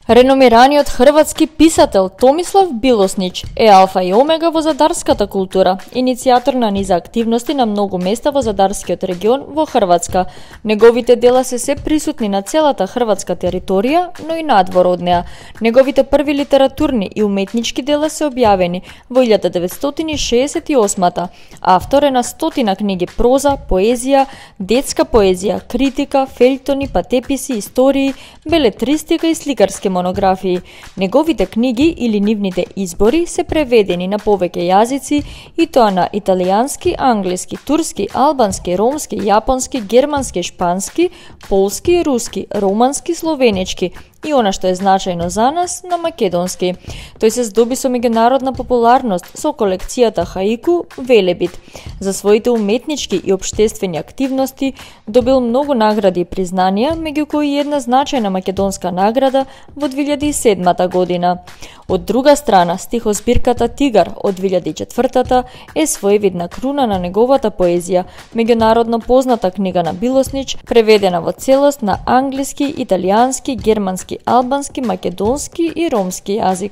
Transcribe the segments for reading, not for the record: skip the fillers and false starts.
Реномираниот хрватски писател Томислав Билоснич е алфа и омега во задарската култура, иницијатор на низа активности на многу места во задарскиот регион во Хрватска. Неговите дела се присутни на целата хрватска територија, но и надвор од неа. Неговите први литературни и уметнички дела се објавени во 1968-та. Автор е на стотина книги проза, поезија, детска поезија, критика, фељтони, патеписи, истории, белетристика и сликарски монографии. Неговите книги или нивните избори се преведени на повеќе јазици, и тоа на италијански, англиски, турски, албански, ромски, јапонски, германски, шпански, полски, руски, романски, словенички и она што е значајно за нас, на македонски. Тој се здоби со меѓународна популарност со колекцијата Хаику Велебит. За своите уметнички и општествени активности добил многу награди и признанија, меѓу кои и една значајна македонска награда во 2007 година. Од друга страна, стихозбирката Тигар од 2004 е своевидна круна на неговата поезија, меѓународно позната книга на Билоснич, преведена во целост на англиски, италијански, германски, албански, македонски и ромски јазик.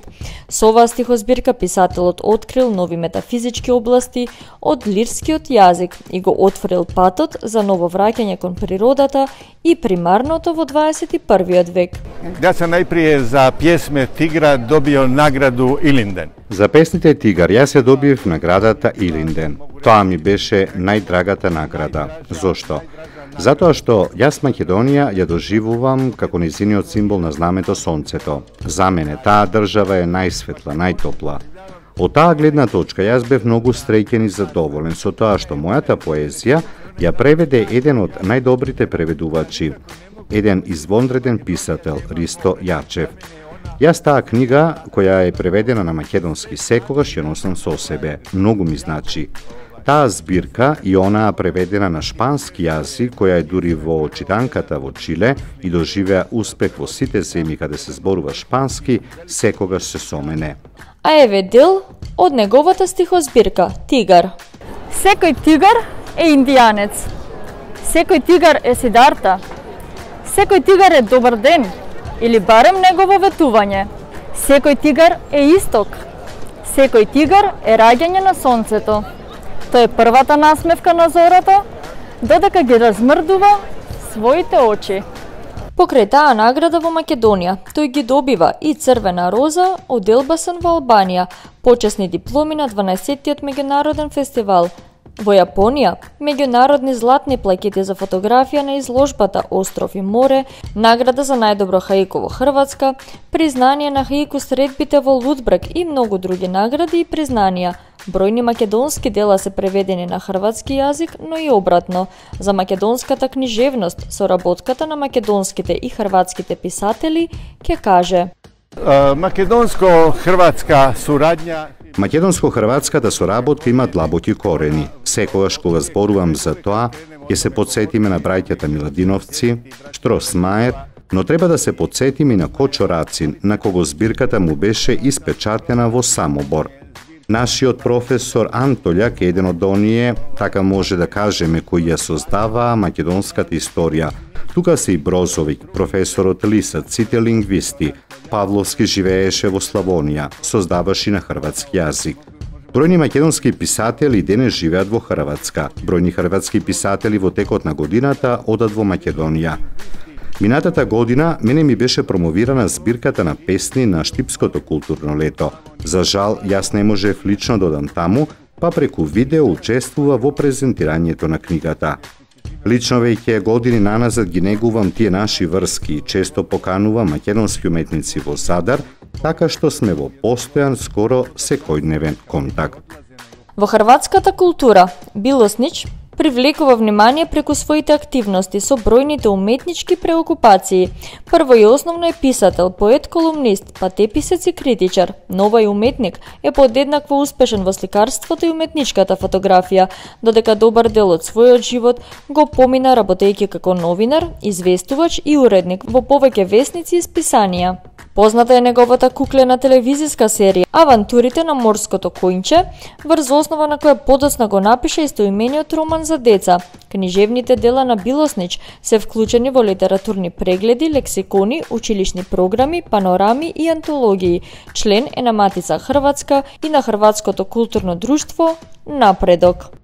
Со оваа стихозбирка писателот открил нови метафизички области од лирскиот јазик и го отворил патот за ново враќање кон природата и примарното во 21 век. Јас сам најприе за пјесме Тигра добио награду Илинден. За песните Тигар јас ја добив наградата Илинден. Тоа ми беше најдрагата награда. Зошто? Затоа што јас Македонија ја доживувам како нејзиниот символ на знамето сонцето. За мене таа држава е најсветла, најтопла. Од таа гледна точка јас бев многу среќен и задоволен со тоа што мојата поезија ја преведе еден од најдобрите преведувачи, еден извонреден писател, Ристо Јачев. Јас таа книга, која е преведена на македонски, секогаш ја носам со себе. Многу ми значи. Таа збирка и онаа преведена на шпански јазик, која е дури во читанката во Чиле и доживеа успех во сите земји каде се зборува шпански, секогаш се со мене. А еве дел од неговата стихозбирка Тигар. Секој тигар е индијанец. Секој тигар е Сидарта. Секој тигар е добар ден, или барем негово ветување. Секој тигар е исток. Секој тигар е раѓање на сонцето. Тоа е првата насмевка на зората, додека ги размрдува своите очи. Покрај таа награда во Македонија, тој ги добива и Црвена роза од Елбасан во Албанија, почесни дипломи на 12-тиот меѓународен фестивал. Во Јапонија, меѓународни златни плакети за фотографија на изложбата Остров и море, награда за најдобро хаику во Хрватска, признание на хаику средбите во Лудбрак и многу други награди и признанија. Бројни македонски дела се преведени на хрватски јазик, но и обратно. За македонската книжевност, соработката на македонските и хрватските писатели, ќе каже: Македонско-хрватска сурадња. Македонско-хрватската соработка има длабоки корени. Секогаш кога зборувам за тоа, ќе се потсетиме на браќата Миладиновци, Штросмаер, но треба да се потсетиме и на Кочо Рацин, на кого збирката му беше испечатена во Самобор. Нашиот професор Антолјак е еден од оние, така може да кажеме, кои ја создаваа македонската историја. Тука се и Брозовик, професорот Лисаc, сите лингвисти. Павловски живееше во Славонија, создаваше на хрватски јазик. Бројни македонски писатели денес живеат во Хрватска. Бројни хрватски писатели во текот на годината одат во Македонија. Минатата година мене ми беше промовирана збирката на песни на Штипското културно лето. За жал, јас не можев лично да одам таму, па преку видео учествува во презентирањето на книгата. Лично веќе години наназад ги негувам тие наши врски и често поканувам македонски уметници во Задар, така што сме во постојан, скоро секојдневен контакт. Во хрватската култура Билоснич привлекува внимание преку своите активности со бројните уметнички преокупации. Прво и основно е писател, поет, колумнист, патеписец и критичар, но овај уметник е подеднакво успешен во сликарството и уметничката фотографија, додека добар дел од својот живот го помина работејќи како новинар, известувач и уредник во повеќе весници и списанија. Позната е неговата куклена телевизиска серија Авантурите на морското коњче, врз основа на која подоцна го напиша истоимениот роман за деца. Книжевните дела на Билоснич се вклучени во литературни прегледи, лексикони, училишни програми, панорами и антологии. Член е на Матица Хрватска и на Хрватското културно друштво Напредок.